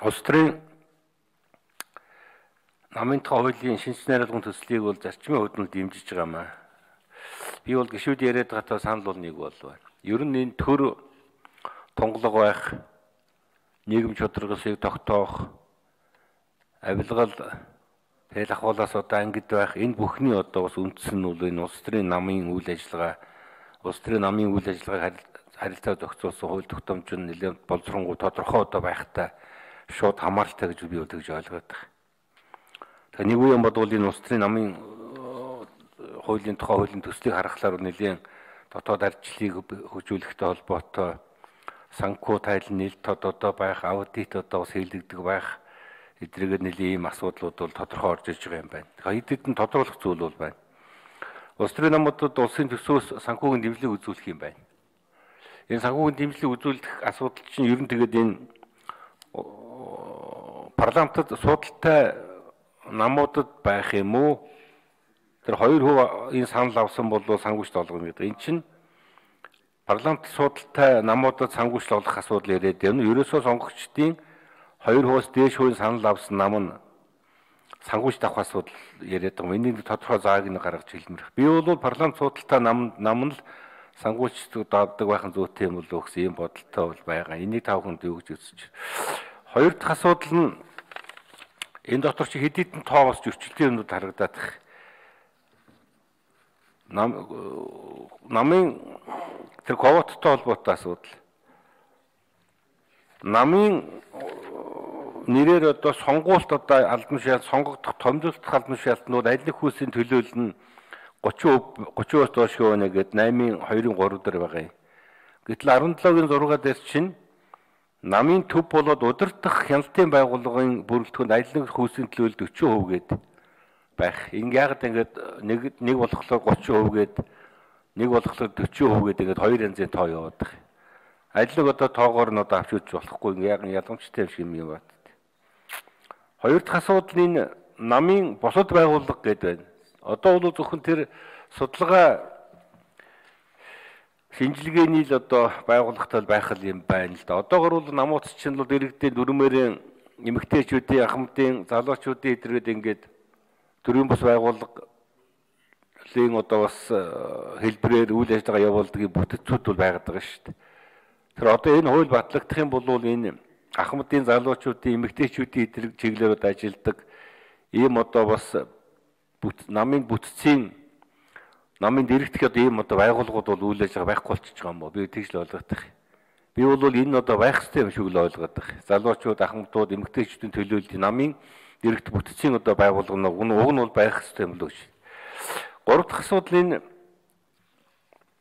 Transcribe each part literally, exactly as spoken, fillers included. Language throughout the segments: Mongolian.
улс төрийн намын тухай хуулийн шинж найруулгын төслийг бол зарчмын хувьд нь дэмжиж байгаа маа. Би бол гишүүд яриад байгаа санал бол нэг бол байна. Ер нь энэ төр тунгалаг байх, нийгэм чөтгөрсийг тогтоох, авилгал тэл ахуулаас одоо ангид байх энэ бүхний одоо бас үндсэн нь бол энэ улс төрийн намын үйл ажиллагаа, улс төрийн намын үйл ажиллагааг харилцаа зохицуулсан хууль тогтоомж нь нэлээд боловсронгуй тодорхой одоо байхтай шууд хамааралтай гэж би бол тэгж ойлгоод байна. Тэгээ нэг үеийн бодвол энэ улс төрийн намын хуулийн тухай хуулийн төслийг харахаар нэлээд дотоод ардчлалыг хөгжүүлэхтэй холбоотой санхүү тайлан нийлт тод одоо байх, аудит одоо бас хийлэгдэх байх эдгээр нэлийн ийм асуудлууд бол тодорхой орж иж байгаа юм байна. Тэгэхээр эдгээр нь тодруулах зүйл бол байна. Улс төрийн намуудад улсын төсвөөс санхүүгийн дэмжлэг үзүүлэх юм байна. Энэ санхүүгийн дэмжлэг үзүүлэх асуудал чинь ер нь тэгээд энэ парламентод судалтай намуудад байх юм уу? Тэр хоёр хөв энэ санал авсан бол санхүүжилт олгоно гэдэг. Энэ чинь парламент судалтай намуудад санхүүжилт олгох асуудал яриад байна. Ерөөсөө сонгогчдын хоёр хувьас дээш хувийн санал авсан нам нь санхүүжилт авах асуудал яриад байгаа. Энийг тодорхой зааг нь гаргаж хэлмэрх. Би бол парламент судалтай нам нам нь л санхүүжилт давдаг байхын зүйтэй юм бол өгсөн юм бодолтой бол байгаа. Энийг тав хүнд юу гэж үзэж. Хоёр дахь асуудал нь энэ дотор чи хэд хэдэн тоо бас зөрчилтэй юмнууд харагдаад байна. Нам намын тэр ковоттой холбоотой асуудал. Намын нэрээр одоо сонгуульт одоо албан шалгалт сонгогдох томилогдох албан шалгалтнууд аль нэг хүүсийн төлөөлөл нь гучин гучин доош хөвөнө гэдэг восемь хоёрын три дээр байгаа юм. Гэтэл арван долоогийн зургаар дээр чинь намын төв болоод удирдах хяналтын байгууллагын бүрэлдэхүүнд аль нэг хүүсийн төлөөлөл forty percent гээд байх. Ингээ яагаад ингэж нэг нэг болохоор thirty percent гээд нэг болохоор forty percent гээд ингэж хоёр янзын тоо яваад байгаа. Аль нэг одоо тоогоор нь одоо авч үзэж болохгүй ингээ яг ялгамжтай юм юм байна. Хоёр дахь асуудал энэ намын босод байгууллага гэдэг байна. Одоо бол зөвхөн тэр судалгаа шинжилгээний л одоо байгууллагатай байх юм байна л да. Одоогор бол намууц чинь бол иргэдийн дүрмээрийн эмэгтэйчүүдийн, ахмадын, залуучуудын эдрэгэд ингээд төрийн бас байгууллагын одоо бас хэлбэрээр үйл ажиллагаа явуулдаг бүтцүүд бол байгаад байгаа шүү дээ. Тэр одоо энэ хууль батлагдах юм бол энэ ахмадын, залуучуудын, эмэгтэйчүүдийн эдрэг чиглэлүүд ажилладаг ийм одоо бас намын бүтцийн намын дэрэгдэх одоо ийм одоо байгууллагууд бол үйл ажиллагаа байхгүй болчихж байгаа юм бо. Би тэгж л ойлгоод байна. Би бол энэ одоо байх хэрэгтэй юм шиг л ойлгоод байна. Залуучууд, ахмадууд, эмэгтэйчүүдийн төлөөлөл намын дэрэгдэх бүтцийн одоо байгууллага уг нь уг нь бол байх хэрэгтэй юм л үү. Гурав дахь асуудал энэ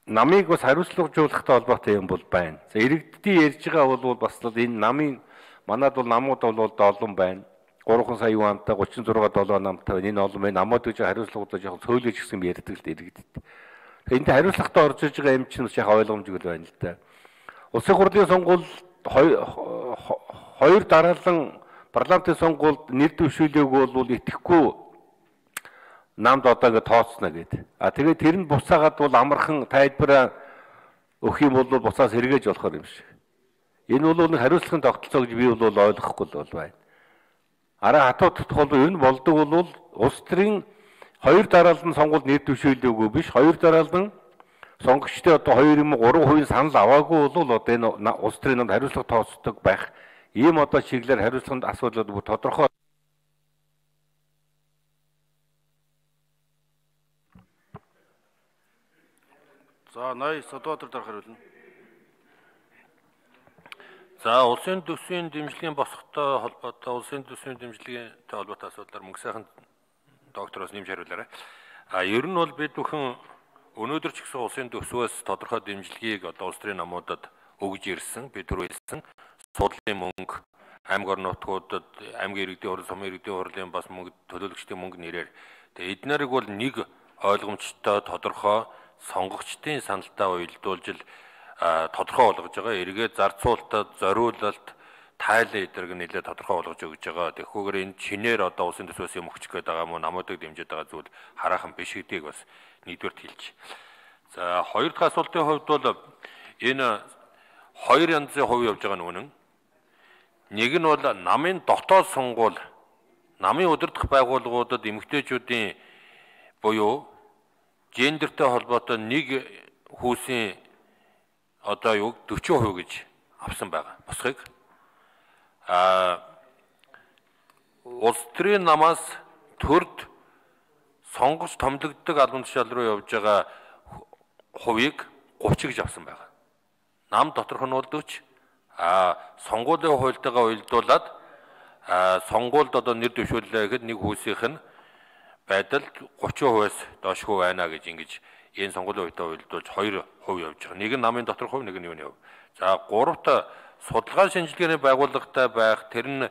намыг бас хариуцлагажуулахтай холбоотой юм бол байна. За иргэдийн ярьж байгаа бол бас л энэ намын манад бол намууд бол олон байна. three сая юантай thirty-six seven намтай энэ олон байна. Намууд гэж хариуцлагуудаа жоохон цөөлөж гисэн ярьдаг л иргэдэд. Энд хариуцлагатай орж иж байгаа юм чинь яг ойлгомжгүй байна л да. Улсын хурлын сонгуул хоёр дараалан парламентын сонгуульд нэр дэвшүүлээгүй бол итгэхгүй намд одоо ингэ тооцно гэдэг. А тэгээд тэр нь буцаагаад бол амархан тайлбараа өгөх юм бол буцаас эргэж болохоор юм шиг. Энэ бол нэг хариуцлагын тогтолцоо гэж би бол ойлгохгүй л байна. Араа хатуудах бол ер нь болдог бол улс төрийн хоёр дараалан сонгуульд нэр дэвшүүлээгүй биш, хоёр дараалан сонгогчдын одоо two юм three хувийн санал аваагүй бол одоо энэ улс төрийн намд хариуцлага тооцдог байх. Ийм одоо чиглэлээр хариуцлаганд асуудлууд бүр тодорхой. За ноён Содбаатар дарга хариулна. За улсын төсвийн дэмжлэгийн босгохтой холбоотой улсын төсвийн дэмжлэгтэй холбоотой асуудлаар мөнгө сайхан доктороос нэмж хариулаарай. А ер нь бол бид бүхэн өнөөдөр ч гэсэн улсын төсвөөс тодорхой дэмжлэгийг одоо улс төрийн намуудад өгж ирсэн. Бид түр хэлсэн судлалын мөнгө, аймаг орон нутгуудад аймгийн иргэдийн хурал, сумын иргэдийн хурлын бас мөнгө, төлөөлөгчдийн мөнгө нэрээр. Тэгээ эднэрийг бол нэг ойлгомжтой тодорхой сонгогчдын саналтай уялдуулж л тодорхой болгож байгаа. Эргээд зарцуулалтад, зориулалт, тайлан эдэрэг нэлээд тодорхой болгож өгж байгаа. Тэгэхгүйгээр энэ чинээр одоо улсын төсвөөс юм өгч гээд байгаа мөн намуудыг дэмжиж байгаа зүйл хараахан биш гэдгийг бас нэгдүгээрт хэлж. За хоёр дахь асуултын хувьд бол энэ хоёр янзын хувь явж байгаа нь үнэн. Нэг нь бол намын дотоод сонгуул, намын удирдах байгууллагуудад эмэгтэйчүүдийн буюу гендертэй холбоотой нэг хүүсийн одоо юу forty percent гэж авсан байгаа. Босхийг а улс төрийн намаас төрд сонгож томилогддог албан тушаал руу явж байгаа хувийг thirty гэж авсан байгаа. Нам доторх нь бол forty. А сонгуулийн хуультайгаа уялдуулаад а сонгуульд одоо нэр дэвшүүллээ гэхэд нэг хүүсийнх нь байдал thirty percent-аас доошгүй байна гэж ингэж энэ сонгуулийн хуультай уялдуулж two percent явж байгаа. Нэг нь намын доторх хувь, нэг нь юуны хувь. За гуравт судалгаа шинжилгээний байгууллагатай байх, тэр нь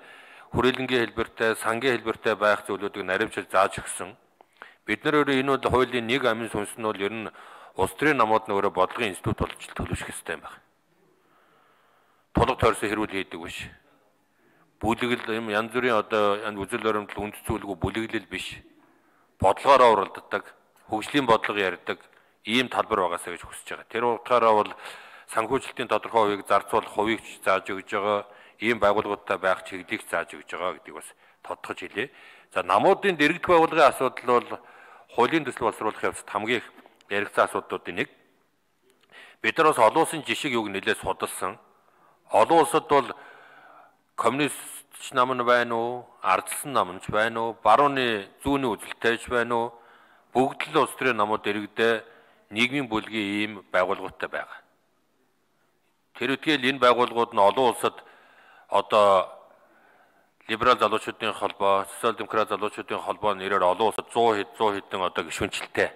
хүрээлэнгийн хэлбэртэй, сангийн хэлбэртэй байх зүйлүүдийг наривчилж зааж өгсөн. Бид нар өөрөө энэ бол хуулийн нэг амин сүнс нь бол ер нь улс төрийн намууд нь өөрөө бодлогын институт болж төлөвшөх хэрэгтэй юм байна. Тулг тойрсон хэрүүл хийдэг биш. Бүлэгэл юм янз бүрийн одоо үзэл баримтлал үнд цүүлгүй бүлэглэл биш. Бодлогоороо уралддаг, хөгжлийн бодлого ярьдаг ийм талбар байгаасаа гэж хүсэж байгаа. Тэр утгаараа бол санхүүжилтийн тодорхой хувийг зарцуулах хувийг зааж өгж байгаа, ийм байгууллагуудтай байх чиглэлийг зааж өгж байгаа гэдгийг бас тодтогч хэлье. За намуудын дэргэдэх байгууллагын асуудал бол хуулийн төсөл боловсруулах явцад хамгийн их яригдсан асуудлуудын нэг. Бид нар бас олон улсын жишиг юуг нэлээд судалсан. Олон улсад бол коммунист нам нь байна уу, ардсан нам нь байна уу, барууны зүүнний үзэлтэйч байна уу, бүгд л улс төрийн намууд дэрэгдээ нийгмийн бүлгийн ийм байгууллагуудтай байгаа. Тэр үтгэл энэ байгууллагууд нь олон улсад одоо либерал залуучуудын холбоо, социал демократ залуучуудын холбоо нэрээр олон улсад one hundred хэдэн одоо гишүүнчлэлтэй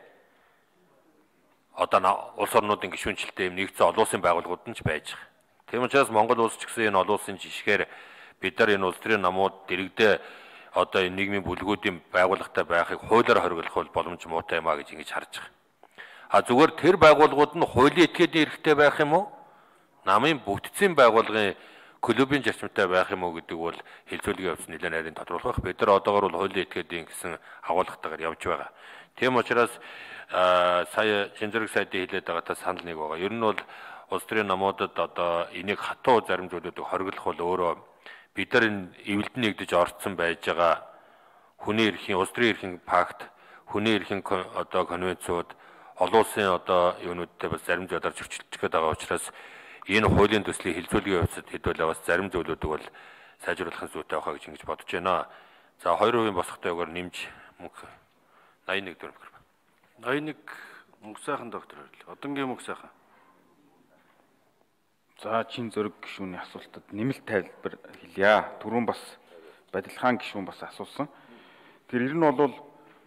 одоо улс орнуудын гишүүнчлэлтэй юм нэгдсэн олон улсын байгууллагууд нь ч байж байгаа. Тийм учраас Монгол улс ч гэсэн энэ олон улсын жишгээр бид нар энэ улс төрийн намууд дэрэгдээ одоо энэ нийгмийн бүлгүүдийн байгууллагатай байхыг хуулиар хориглох бол боломж муутай юм а гэж ингэж харж байгаа. А зүгээр тэр байгууллагууд нь хуулийн этгээдийн эрхтэй байх юм уу? Намын бүтцийн байгууллагын клубын зарчимтай байх юм уу гэдэг бол хэлцүүлгийн явц нэлээд нарийн тодруулах. Бид нар одоогор бол хуулийн этгээдийн гэсэн агуулгатайгаар явж байгаа. Тийм учраас сая шинжлэх сайдын хэлээд байгаатай санал нэг байгаа. Ер нь бол улс төрийн намуудад одоо энийг хатуу зарим зүйлүүдийг хориглох бол өөрөө бид нар энэ эвлэлд нэгдэж орцсон байж байгаа хүний эрхийн, улс төрийн эрхийн пакт, хүний эрхийн одоо конвенцууд, олон улсын одоо юунуудтай бас зарим зүйлээр зөрчилдөж байгаа учраас энэ хуулийн төслийн хилцүүлгийн явцад хэдүүлээ бас зарим зүйлүүдийг бол сайжруулах зүйтэй байхаа гэж ингэж бодож байна. За two percent босхтой өгөр нэмж мөнгө ninety-one төгрөг. ninety-one мөнгө сайхан доктор хоёрлоо. Одонгийн мөнгө сайхан. За чин зөрөг гишүүний асуултад нэмэлт тайлбар хэлье. Түрүүн бас Бадилхан гишүүн бас асуусан. Тэр ер нь бол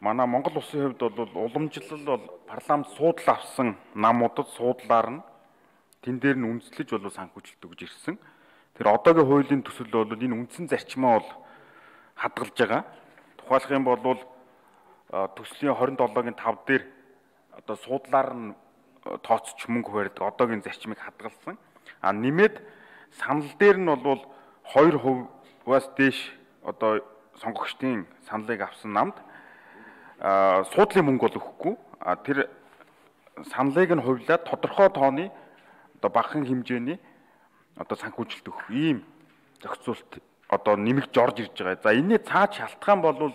манай Монгол улсын хувьд бол уламжлал бол парламент суудлаа авсан намуудад суудлаар нь тэн дээр нь үндэслэж бол санхүүжилт өгж ирсэн. Тэр одоогийн хуулийн төсөл бол энэ үндсэн зарчмаа бол хадгалж байгаа. Тухайлах юм бол төслийн twenty-seven-гийн five дээр одоо суудлаар нь тооцч мөнгө барьдаг одоогийн зарчмыг хадгалсан. А нэмээд санал дээр нь бол two percent-аас дээш одоо сонгогчдын саналыг авсан намд суудлын мөнгө бол өгөхгүй. А тэр саналыг нь хувьлаад тодорхой тооны одоо багахан хэмжээний одоо санхүүжилт өгөх ийм зохицуулт одоо нэмэгдэж орж ирж байгаа. За энэний цааш шалтгаан бол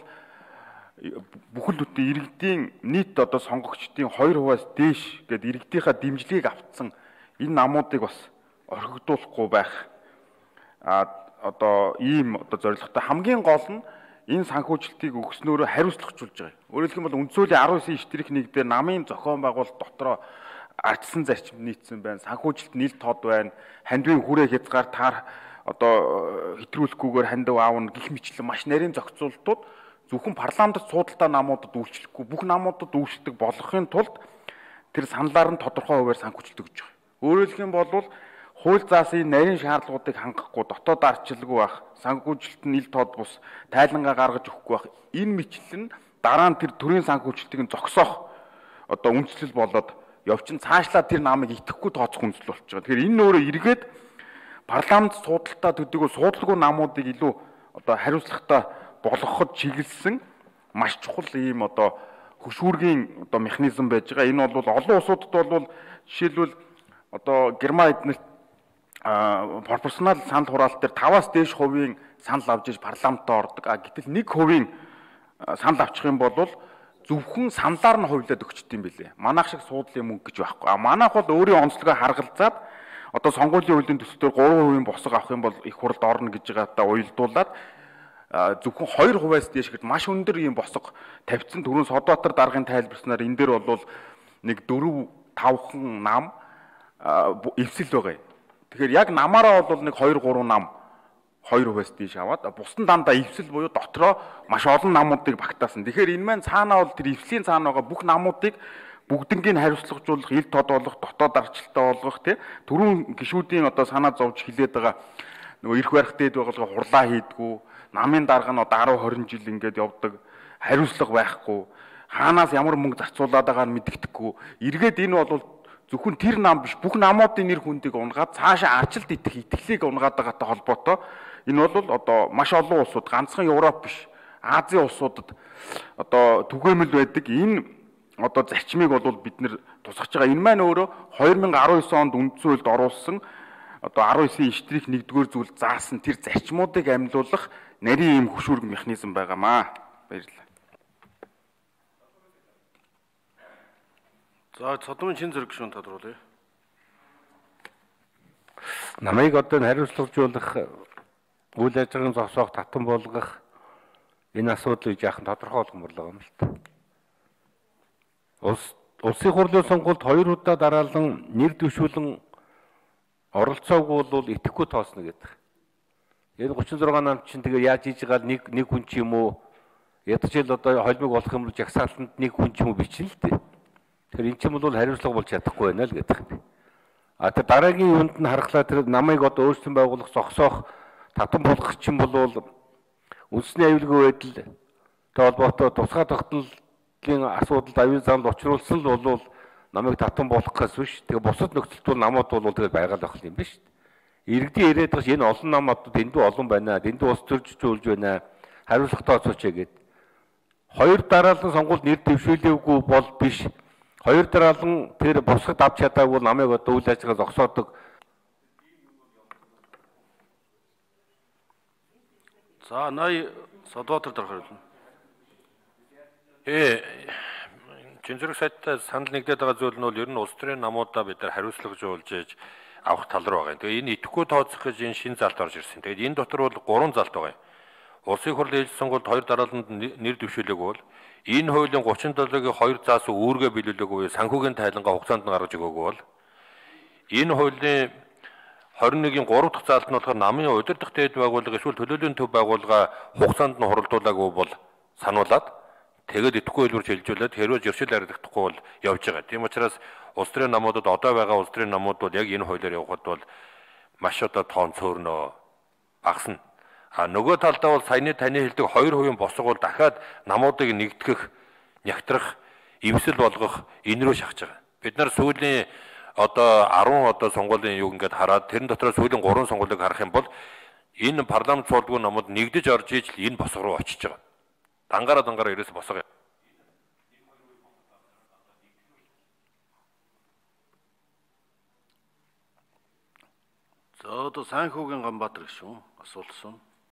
бүхэл бүтэн иргэдийн нийт одоо сонгогчдын two percent-аас дээш гэдэг иргэдийнхаа дэмжлэгийг автсан энэ намуудыг бас орхигдуулахгүй байх а одоо ийм одоо зорилготой хамгийн гол нь энэ санхүүжилтийг өгснөөрөө хариуцлагажуулж байгаа. Өөрөөр хэлбэл үндсүүлийн nineteen штрих нэг дээр намын зохион байгуулалт дотроо ардсан зарчим нийцсэн байна. Санхүүжилт нийл тод байна. Хандвийн хүрээ хязгаар таар одоо хэтрүүлэхгүйгээр хандив аавна гих мэтлэн маш нарийн зохицуултууд зөвхөн парламентд суудалтай намуудад үйлчлэхгүй бүх намуудад үйлчлдэг болгохын тулд тэр саналаар нь тодорхой хуваар санхүүжилт өгж байгаа. Өөрөөр хэлбэл хууль заасан нарийн шаардлагуудыг хангахгүй дотоод ардчилгүй байх, санхүүжилт нь ил тод бус тайлангаа гаргаж өгөхгүй байх. Энэ мэтлэн дараа нь тэр төрийн санхүүжилтийг зогсоох одоо үндэслэл болоод явчин цаашлаа тэр намыг итгэхгүй тооцох үндэслэл болж байгаа. Тэгэхээр энэ өөрөө эргээд парламент суудалтаа төдийгүй суудалгүй намуудыг илүү одоо хариуцлагатай болгоход чиглэсэн маш чухал ийм одоо хөшүүргийн одоо механизм байж байгаа. Энэ бол олон улсуудад бол жишээлбэл одоо Герман эднэрт пропорционал санал хураалт дээр таваас дээш хувийн санал авч иж парламентд ордог. А гэтэл нэг хувийн санал авчих юм бол зөвхөн саналаар нь хувилаад өгчт юм билээ. Манайх шиг суудлын мөнгө гэж байхгүй. А манайх бол өөрийн онцлогоо харгалзаад одоо сонгуулийн хуулийн төсөл дээр гурван хувийн босго авах юм бол их хурлд орно гэж байгаатаа уялдуулаад зөвхөн хоёр хувиас дээш гэж маш өндөр ийм босго тавьсан. Түрүүн Содбаатар даргын тайлбарснаар энэ дээр бол нэг дөрөв тавхан нам эвсэл байгаа юм. Тэгэхээр яг намаараа бол нэг хоёр гурван нам хоёр хувиас дээш аваад бусдын дандаа эвсэл буюу дотроо маш олон намуудыг багтаасан. Тэгэхээр энэ маань цаанаа бол тэр эвслийн цаана байгаа бүх намуудыг бүгднийг хариуцлагажуулах, ил тод болох, дотоод арчлалтай болгох тий түрүүн гишүүдийн одоо санаа зовж хилээд байгаа нөгөө эрх барих дээд байгууллага хурлаа хийдгүү, намын дарга нь одоо десять тwenty жил ингээд явдаг, хариуцлага байхгүй, хаанаас ямар мөнгө зарцуулаад байгааг нь мэддэхгүй. Эргээд энэ бол зөвхөн тэр нам биш бүх намуудын нэр хүндийг унгаад цаашаа арчилт идэх итгэлийг унгаад байгаатай холбоотой энэ бол одоо маш олон улсууд ганцхан Европ биш Азийн улсуудад одоо түгээмэл байдаг энэ одоо зарчмыг бол бид нэр тусгаж байгаа. Энэ маань өөрөө two thousand nineteen онд үндсэн хуульд оруулсан одоо nineteen штрих нэгдүгээр зүйл заасан тэр зарчмуудыг амьлуулах нарийн ийм хөшүүрэг механизм байгаамаа. Баярлалаа. За цодмын шин зэрэг гишүүн тодруулъя. Намайг одоо хариуцлагажуулах үйл ажиллагааны зогсоох татан болгох энэ асуудлыг яахан тодорхой болгоморлоо юм л та. Улс улсын хурлын сонгуульд хоёр удаа дараалан нэр дэвшүүлэн оролцоогүй бол итгэхгүй тоосно гэдэг. Энэ thirty-six нам чинь тэгээ яаж хийж байгаа нэг нэг хүн ч юм уу ядчил одоо холбог болох юм бол жагсаалтанд нэг хүн ч юм уу бичнэ л дээ. Тэгэхээр эн чинь бол хариуцлага болж чадахгүй байна л гэдэг юм. А тэр дараагийн юунд нь харахлаа тэр намайг одоо өөрсдөн байгуулах зогсоох татан болгох чинь бол үндэсний аюулгүй байдал тэ холбоотой тусгай тогтнолын асуудалд аюул замд учруулсан л бол намайг татан болгохоос биш. Тэгээ бусад нөхцөлд бол намууд бол тэгээд байгаал байх юм биш. Иргэдийн ирээд байгаа энэ олон намууд дэндүү олон байна. Дэндүү ус төрж жуулж байна. Хариуцлагатай оцооч гээд. Хоёр дараалан сонгуульд нэр дэвшүүлээгүй бол биш. Хоёр дараалан тэр босгод авч чадаагүй намайг одоо үйл ажиллагаа зогсоодог. За ная Содбаатар дарга хэлнэ. Э Чинзүрэг сайттай санал нэгдээд байгаа зүйл нь бол ер нь улс төрийн намуудаа бид нар хариуцлагажуулж ээж авах тал руу байгаа. Тэгээ энэ идэхгүй тооцох гэж энэ шинэ залт орж ирсэн. Тэгээд энэ дотор бол гурван залт байгаа. Улсын хурлын ээлж сонгуульд хоёр дарааланд нэр дэвшүүлээгүй бол энэ хуулийн thirty-seven-гийн хоёр заасан үүргээ биелүүлээгүй санхүүгийн тайлангаа хугацаанд нь гаргаж өгөөгүй бол энэ хуулийн twenty-one-гийн three дахь заалт нь болохоор намын удирдах дээд байгууллага эсвэл төлөөлийн төв байгууллага хугацаанд нь хуралдуулаагүй бол сануулад тэгээд идэхгүй хэлбэрч хэлжүүлээд хэрвээ зөрчил харагдахгүй бол явж байгаа. Тийм учраас улс төрийн намуудад одоо байгаа улс төрийн намууд бол яг энэ хуулиар явхад бол маш одоо тоон цөөрнөө багасна. А нөгөө талдаа бол саяны таны хэлдэг хоёр хувийн босго бол дахиад намуудыг нэгтгэх, нягтрах, эвсэл болгох энэ рүү шахаж байгаа. Бид нар сүүлийн одоо ten одоо сонгуулийн юг ингээд хараад тэрэн дотор сүүлийн three сонгуулийг харах юм бол энэ парламент суулдгүй намууд нэгдэж орж иж л энэ босго руу очиж байгаа. Дангаараа дангаараа ерөөс босго. За одоо Санхүүгийн Ганбаатар гишүүн асуулсан.